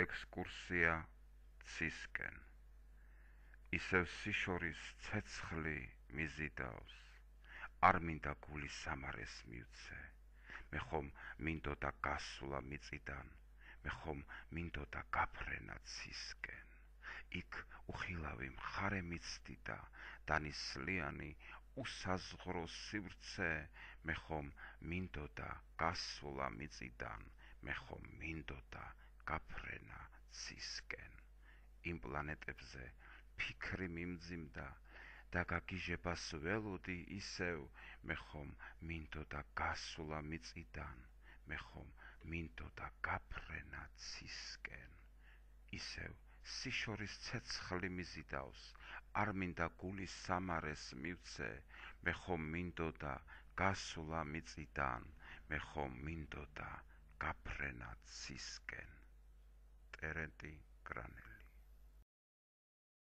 ექსკურსია ცისკენ. ისევ სიშორის ცეცხლი მიზიდავს, არ მინდა გული სამარეს მივცე, მე ხომ მინდოდა გასვლა მიწიდან, მე ხომ მინდოდა გაფრენა ცისკენ. იქ უხილავი მხარე მიცდიდა, დანისლიანი უსაზღრო სივრცე, მე ხომ მინდოდა გასვლა მიწიდან, მე ხომ მინდოდა გაფრენა ცისკენ. იმ პლანეტებზე ფიქრი მიმძიმდა და გაგიჟებას ველოდი ისევ, მე ხომ მინდოდა გასვლა მიწიდან, მე ხომ მინდოდა გაფრენა ცისკენ. ისევ სიშორის ცეცხლი მიზიდავს, არ მინდა გულის სამარეს მივცე, მე ხომ მინდოდა გასვლა მიწიდან, მე ხომ მინდოდა გაფრენა ცისკენ. ტერენტი კრანელი.